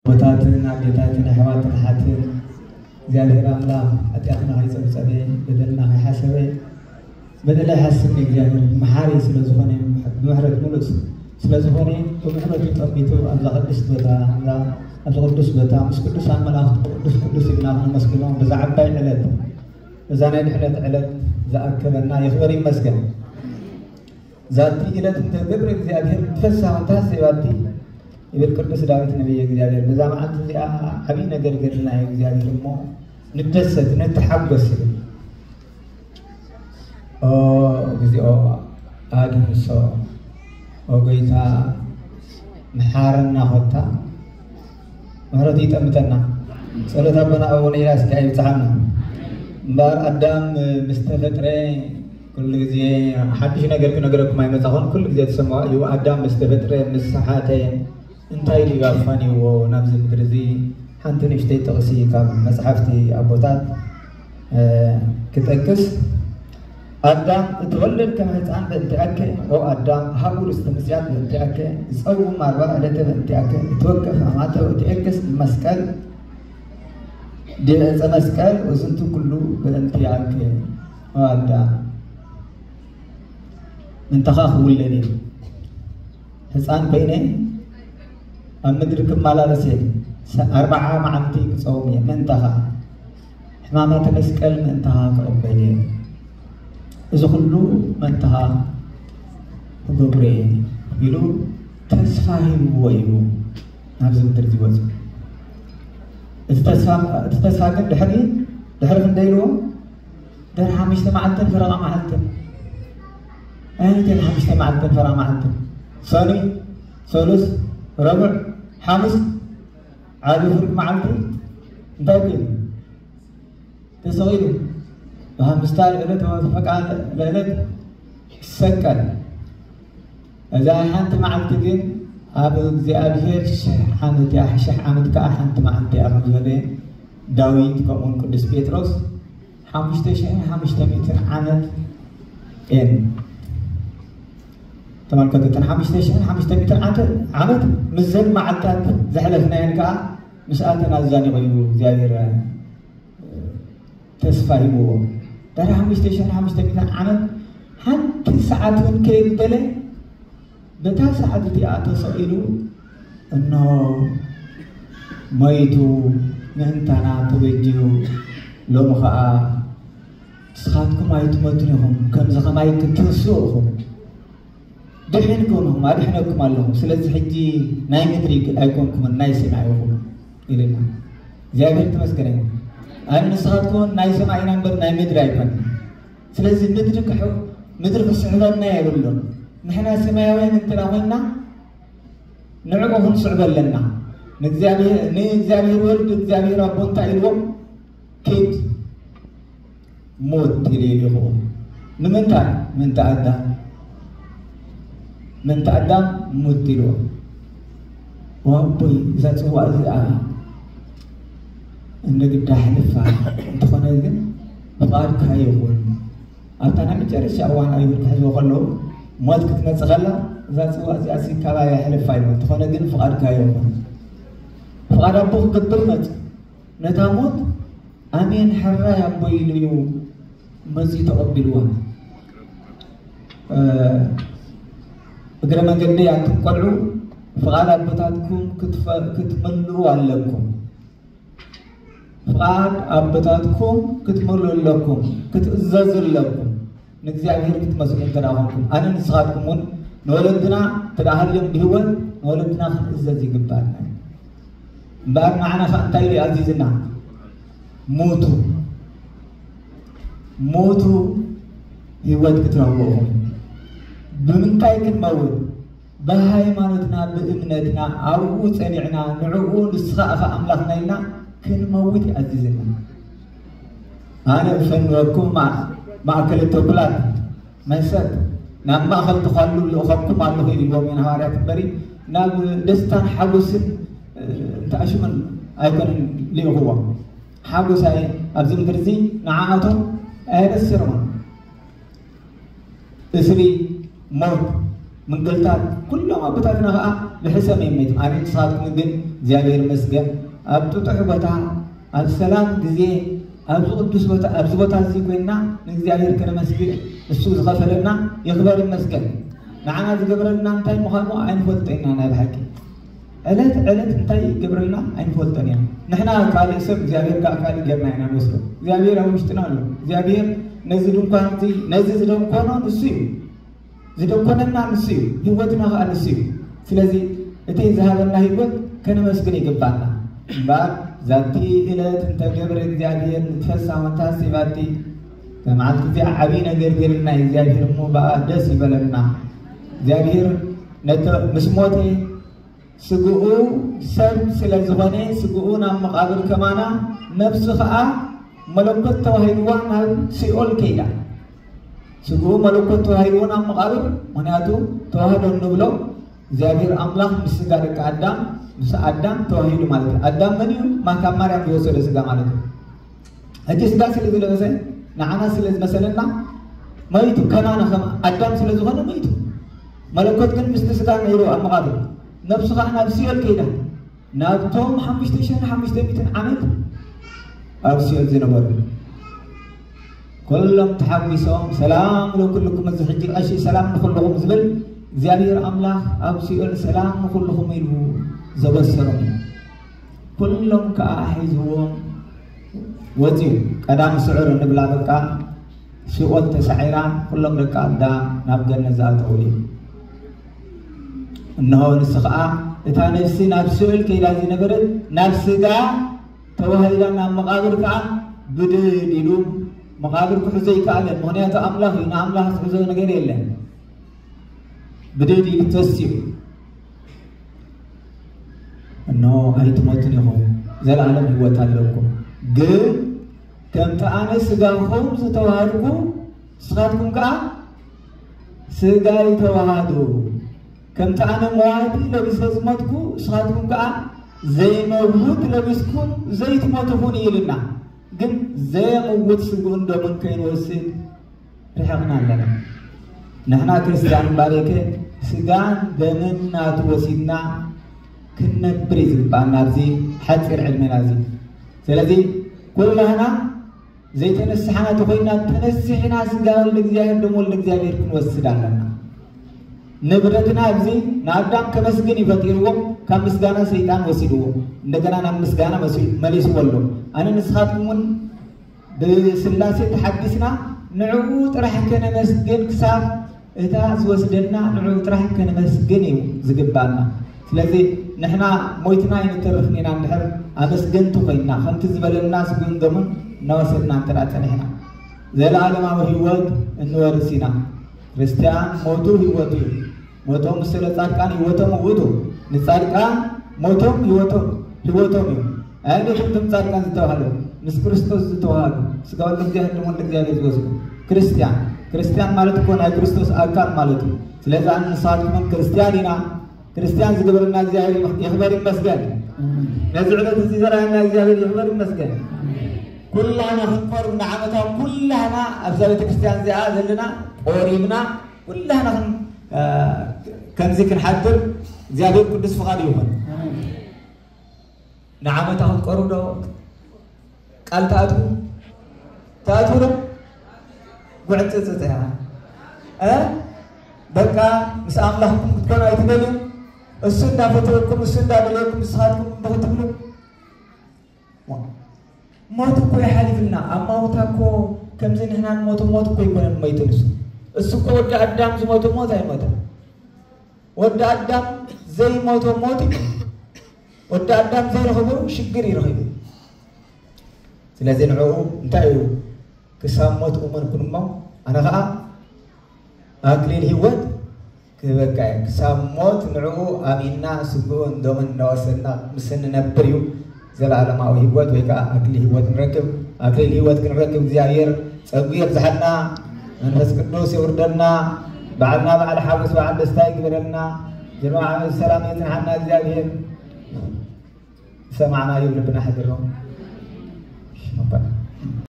ኣቦታትን ኣዴታትን ኣሕዋትን ኣሓትን እግዚኣብሔር ኣምላኽ ሓጢኣትና ከይጸብጸበ በደልና ከይሓሰበ በደል ኣይሓስብን እግዚኣብሔር መሓሪ ስለ ዝኾነ ብምሕረት ሙሉእ ስለ ዝኾነ ብምሕረቱ ጠሚቱ ኣብዛ ቅድስት ቦታ ኣብዛ ኣብዚ ቅዱስ ቦታ ምስ ቅዱሳን መላእኽቲ ቅዱስ ቅዱስ ኢልና ከነመስግኖ በዛ ዓባይ ዕለት እዛ ናይ ድሕነት ዕለት ዝኣከበና ይኽበር ይመስገን። ዛቲ ዕለት እንተ ገብረ እግዚኣብሔር ብፍስሓ እንተ ሐሰይባቲ ይብል ቅዱስ ዳዊት ነቢየ እግዚኣብሔር። በዛ መዓልቲ እዚኣ ዓብዪ ነገር ገድልና እዩ እግዚኣብሔር እሞ ንደሰት፣ ንተሓጎስ ይብል። ኦ እግዚኦ ኣድህሶ፣ ኦ ጎይታ መሓረና ኮታ ምሕረቱ ይጠምተና። ጸሎት ኣቦና ኣቡነ ኢላስ ከኣ ይብጽሓና። እምበኣር ኣዳም ምስ ተፈጥረ ኩሉ ግዜ ሓድሽ ነገር ክነግረኩም ኣይመጻኹን። ኩሉ ግዜ ትሰምዖ እዩ። ኣዳም ምስ ተፈጥረ ምስ ሰሓተ እንታይ ኢሉ እዩ ኣፋንይዎ ናብዚ ምድሪ እዚ? ሓንቲ ንእሽተይ ጥቕሲ ካብ መጽሓፍቲ ኣቦታት እ፣ ክጠቅስ ኣዳም እተወለድ ከም ህፃን በእንቲኣከ ኦ ኣዳም ሃቡ ርስተ ምጽያት በእንቲኣከ ዝፀውም ኣርባ ዕለተ በእንቲኣከ እትወከፍ ኣማተ ወእትኤክስ መስቀል ዲበ ዕፀ መስቀል ወዝንቱ ኩሉ በእንቲኣከ ኦ ኣዳም ምንተኻ ክውለድ እዩ ህፃን ኮይነ ኣብ ምድሪ ክመላለስ እየ ኣርባዓ መዓልቲ ክፀውም እየ ምንተኻ ሕማማተ መስቀል ምእንታኻ ክቕበል እየ እዚ ኩሉ ምእንታኻ ክገብሮ እየ ኢሉ ተስፋ ሂብዎ እዩ ናብዚ ምድሪ ዝወፁ እቲ ተስፋ ግን ድሕሪ ድሕሪ ክንደይ ኢልዎ ድሕሪ ሓሙሽተ መዓልትን ፈረቓ መዓልትን ኣይነትን ሓሙሽተ መዓልትን ፈረቓ መዓልትን ሰኒ ሰሉስ ረቡዕ ሓሙስ ዓቢ ፍርቂ መዓልቲ እንታይ ኮይኑ ተሰቒሉ ብሃምስታ ልዕለት ወፈቃ ልዕለት ይሰቀል እዛ ሓንቲ መዓልቲ ግን ኣብ እግዚኣብሔር ሽሕ ዓመት እያ ሽሕ ዓመት ከዓ ሓንቲ መዓልቲ እያ ከም ዝበለ ዳዊት ከምኡውን ቅዱስ ጴጥሮስ ሓሙሽተ ሽሕን ሓሙሽተ ሚእትን ዓመት እየን ተመልከቱ እተን ሓሙሽተ ሽሕን ሓሙሽተ ሚእትን ዓመት ምስዘን መዓልታት ዘሕለፍናየን ከዓ ምስኣተን ኣዛኒቑ እዩ እግዚኣብሔር ተስፋ ሂብዎ ድሕሪ ሓሙሽተ ሽሕን ሓሙሽተ ሚእትን ዓመት ሓንቲ ሰዓት እውን ከየጉደለ በታ ሰዓት እቲኣ ተሰቒሉ እንሆ ሞይቱ ምእንታና ተበጅዩ ሎሚ ኸዓ ንስኻትኩም ኣይትመቱን ኢኹም ከምዚ ኸማይ ክትንስኡ ኢኹም ድሒንኩም ኢኹም ኣድሕነኩም ኣለኹ ስለዚ ሕጂ ናይ ምድሪ ኣይኮንኩምን ናይ ሰማይ ኢኹም ኢልና እግዚኣብሔር ተመስገነ ይኹን ኣነ ንስኻትኩም ናይ ሰማይ ኢና እምበር ናይ ምድሪ ኣይኮን ስለዚ ምድሪ ክሕ ምድሪ ክስሕበና የብሉን ንሕና ሰማያውያን እንትና ኮይና ንዕኡ ክንስዕቦ ኣለና ንእግዚኣብሔር ወልድ እግዚኣብሔር ኣቦ እንታይ ኢልዎም ኪድ ሙት ኢሉ ይልኹ ንምንታይ ምንተ ኣዳም ምንተ ኣዳም ሙት ኢልዎ ዋቦይ እዛ ፅዋእ እዚኣ እንደ ግዳ ሕልፋ እንተኾነ ግን ፍቓድካ ይኹን ኣብታ ናይ መጨረሻ እዋን ኣይሁድ ክሕዝዎ ከለዉ ሞት ክትመፅእ ከላ እዛ ፅዋእ እዚኣ ሲ ካባይ ኣይሕልፋ ኢልዎ እንተኾነ ግን ፍቓድካ ይኹን ፍቓድ ኣቦ ክገብር መፅ ነታ ሞት ኣሜን ሕራይ ኣቦይ ኢሉ እዩ መፂኡ ተቐቢልዋ እግረ መንገደይ ኣንቱም ቆልዑ ፍቓድ ኣቦታትኩም ክትመልኡ ኣለኩም ፍቓድ ኣቦታትኩም ክትመልኡ ኣለኩም ክትእዘዙ ኣለኩም ንእግዚኣብሔር ክትመስሉ እንተ ደኣ ኮንኩም ኣነ ንስኻትኩም እውን ንወለድና እንተ ደኣ ሃልዮም ብህይወት ንወለድና ክንእዘዝ ይግባኣና እዩ እምበኣር ንዓና ከዓ እንታይ ኢሉ ኣዚዝና ሙቱ ሙቱ ህይወት ክትረኽቡ ኢኹም ብምንታይ ክንመውት ብሃይማኖትና ብእምነትና ኣብኡ ጸኒዕና ንዕኡ ንስኻ ኢኻ ኣምላኽና ኢልና ክንመውት ይኣዝዝና ኣነ እፈንወኩም ማእከል ተኩላት መሰት ናብ ማእኸል ተኳሉ ልእኸኩም ኣለኹ ኢልዎም ኢና ሃዋርያት እምበሪ ናብ ደስታን ሓጎስን እንተኣሽሙን ኣይኮነን ልእኽዎም ሓጎሳይ ኣብዚ ምድሪ እዚ ንዓኣቶም ኣየበስርዎን እስሪ ሞት ምንግልታት ኩሎም ኣቦታትና ከዓ ብሕሰም እዮም መይቶም ኣነ ንስኻትኩም ግን እግዚኣብሔር ይመስገን። ኣብ ጥጡሕ ቦታ፣ ኣብ ሰላም ግዜ፣ ኣብዚ ቅዱስ ቦታ፣ ኣብዚ ቦታ እዚ ኮይንና ንእግዚኣብሔር ከነመስግን እሱ ዝኸፈለና ይኽበር ይመስገን። ንዓና ዝገብረልና እንታይ ምዃኑ ኣይንፈልጦ ኢና። ናይ ብሓቂ ዕለት ዕለት እንታይ ይገብረልና ኣይንፈልጦን ኢና። ንሕና ካልእ ሰብ እግዚኣብሔር ከዓ ካልእ ጌርና ኢና ንወስዶ። እግዚኣብሔር ኣብ ውሽጥና ኣሎ። እግዚኣብሔር ነዚ ድንኳን እዚ፣ ነዚ ዝደንኮኖ ንሱ እዩ። ዝደኮነና ንሱ እዩ፣ ህይወትና ኸዓ ንሱ እዩ። ስለዚ እቲ ዝሃበና ህይወት ከነመስግን ይግባና። እምበኣር ዛቲ ዕለት እንተ ገብረ እግዚኣብሔር ንትፈሳ ወንታሲ ባቲ፣ መዓልቲ እዚኣ ዓብዪ ነገር ገይርልና እዩ እግዚኣብሔር እሞ በኣ ደስ ይበለና። እግዚኣብሔር ነተ ምስ ሞተ ስግኡ ሰብ ስለ ዝኾነ ስግኡ ናብ መቓብር ከማና፣ ነፍሱ ኸዓ መለኮት ተዋሂድዋ ናብ ሲኦል ከይዳ። ስግኡ መለኮት ተዋሂድዎ ናብ መቓብር። ምኽንያቱ ተዋህዶ እንብሎ እግዚኣብሔር ኣምላኽ ምስ ስጋ ደቂ ኣዳም፣ ምስ ኣዳም ተዋሂዱ ማለት እዩ። ኣዳም መን እዩ? ማ ካብ ማርያም ዝወሰደ ስጋ ማለት እዩ። ሕጂ ስጋ ስለ ዝለበሰ ንዓና ስለ ዝመሰለና መይቱ፣ ከማና ከም ኣዳም ስለ ዝኾነ መይቱ። መለኮት ግን ምስቲ ስጋ ነይሩ ኣብ መቓብር፣ ነብሱ ኸዓ ናብ ሲኦል ከይዳ። ናብቶም ሓሙሽተ ሽሕን ሓሙሽተ ሚእትን ዓመት ኣብ ሲኦል ዝነበሩ ኩሎም ተሓጒሶም፣ ሰላም ለኩልኩም፣ እዚ ሕጂ ቀሺ ሰላም ንኹልኹም ዝብል እግዚኣብሔር ኣምላኽ ኣብ ሲኦል ሰላም ንኹልኹም ኢሉ ዘበሰሮም እዩ። ኩሎም ከዓ ሒዝዎም ወፂኡ። ቀዳም ስዑር እንብላ በቃ ሲኦል ተሳዒራ፣ ኩሎም ደቂ ኣዳም ናብ ገነት ዝኣተውሉ እዩ። እነሆ ንሱ ከዓ እታ ነፍሲ ናብ ሲኦል ከይዳ ዝነበረት ናብ ስጋ ተዋሂዳ ናብ መቓብር ከዓ ብድድ ኢሉ፣ መቓብር ክሕዞ ይከኣለን። ምኽንያቱ ኣምላኽ እዩ፣ ንኣምላኽ ዝሕዞ ነገር የለን። ብድድ ኢሉ ተሲኡ፣ እነሆ ኣይትሞቱን ኢኹም፣ ዘለኣለም ህይወት ኣለኩም። ግን ከምቲ ኣነ ስጋኹም ዝተዋሃድኩ፣ ንስኻትኩም ከዓ ስጋይ ተዋሃዱ። ከምቲ ኣነ መዋቲ ለቢሰ ዝሞትኩ፣ ንስኻትኩም ከዓ ዘይመውት ለቢስኩም ዘይትሞቱ ኩኑ ኢልና። ግን ዘየምውት ስግኡን ደሙን ከይንወስድ ርሒቕና ኣለና። ንሕና ክርስትያን እምበኣርከ ስጋን ደምን ናቱ ወሲድና ክንነብር እዩ ዝግባኣና ኣብዚ ሓፂር ዕድሜና እዚ። ስለዚ ኩላህና ዘይተነስሓና ተኾይና፣ ተነሲሕና ስጋ ወልደ እግዚኣብሔር ደም ወልደ እግዚኣብሔር ክንወስድ ኣለና። ንብረትና ኣብዚ ንኣዳም ከመስግን እዩ ፈጢርዎ፣ ካብ ምስጋና ሰይጣን ወሲድዎ፣ እንደገና ናብ ምስጋና መሲ-፣ መሊስዎ ኣሎ። ኣነ ንስኻትኩም እውን ብስላሴ ተሓዲስና ንዕኡ ጥራሕ ከነመስግን፣ ክሳብ እታ ዝወስደና ንዕኡ ጥራሕ ከነመስግን እዩ ዝግባና። ስለዚ ንሕና ሞይትና ኣይንተርፍን ኢና፣ እንድሕር ኣመስገንቲ ኮይንና፣ ከምቲ ዝበለና ስግኡን ደሙን እናወሰድና እንተ ደኣ ጸኒሕና፣ ዘለኣለማዊ ህይወት እንወርስ ኢና። ክርስትያን ሞቱ ህይወቱ እዩ። ሞቶም ምስለ ጻድቃን ህይወቶም ውእቱ። ንጻድቃን ሞቶም ህይወቶም፣ ህይወቶም እዩ። ኣየነይቶም እቶም ጻድቃን ዝተባህሉ? ምስ ክርስቶስ ዝተዋሃዱ፣ ስጋ ወልደ እግዚኣብሔር ደም ወልደ እግዚኣብሔር ዝወስዱ። ክርስትያን፣ ክርስትያን ማለት እኮ ናይ ክርስቶስ ኣካል ማለት እዩ። ስለዚ ኣነ ንስኻትኩምን ክርስትያን ኢና። ክርስትያን ዝገበረና እግዚኣብሔር ይኽበር ይመስገን። ነዚ ዕለት እዚ ዘርኣየና እግዚኣብሔር ይኽበር ይመስገን። ኩላህና ክንቆርብ ንዓመታ፣ ኩላህና ኣብዛ ቤተክርስትያን እዚኣ ዘለና ቆሪብና፣ ኩላህና ክን-፣ እ፣ ከምዚ ክንሓድር እግዚኣብሔር ቅዱስ ፍቓዱ ይኹን። ንዓመታ ክትቆርቡ ዶ ቃል ትኣትዉ? ትኣትዉ ዶ? ጉዕጽጽጽ እያ። እ? በቃ ምስ ኣምላኽኩም ክትኮኑ ኣይትደልዩ? እሱ እንዳፈተወኩም፣ እሱ እንዳደለየኩም ንስኻትኩም እምቢ ክትብሉ? ሞ-፣ ሞት እኮ ይሓሊፍና። ኣማውታ እኮ ከምዚ ንሕና ንሞቶ ሞት እኮ ይኮነን መይቱ ንሱ። እሱ እኮ ወዲ ኣዳም ዝሞቶ ሞት ኣይሞተን። ወዲ ኣዳም ዘይሞቶ ሞት እዩ። ወዲ ኣዳም ዘይረኸቦ ሽግር ይረኸቡ። ስለዚ ንዕኡ እንታይ እዩ? ክሳብ ሞት እመን ኩን እሞ ኣነ ኸዓ ኣክሊል ህይወት ክህበካ እየ። ክሳብ ሞት ንዕኡ ኣሚንና ስግኡን ደሙን እናወሰድና ምስ እንነብር እዩ ዘለኣለማዊ ህይወት ወይ ከዓ ኣክሊል ህይወት ንረክብ። ኣክሊል ህይወት ክንረክብ እግዚኣብሔር ጸጉ የብዝሓልና፣ መንፈስ ቅዱስ የውርደልና። በዓልና በዓል ሓጎስ በዓል ደስታ ይግበረልና። ጀምዓ ዓመት ሰላም የጽንሓና እግዚኣብሔር። ሰማዕና ይብልብና ሕድሮ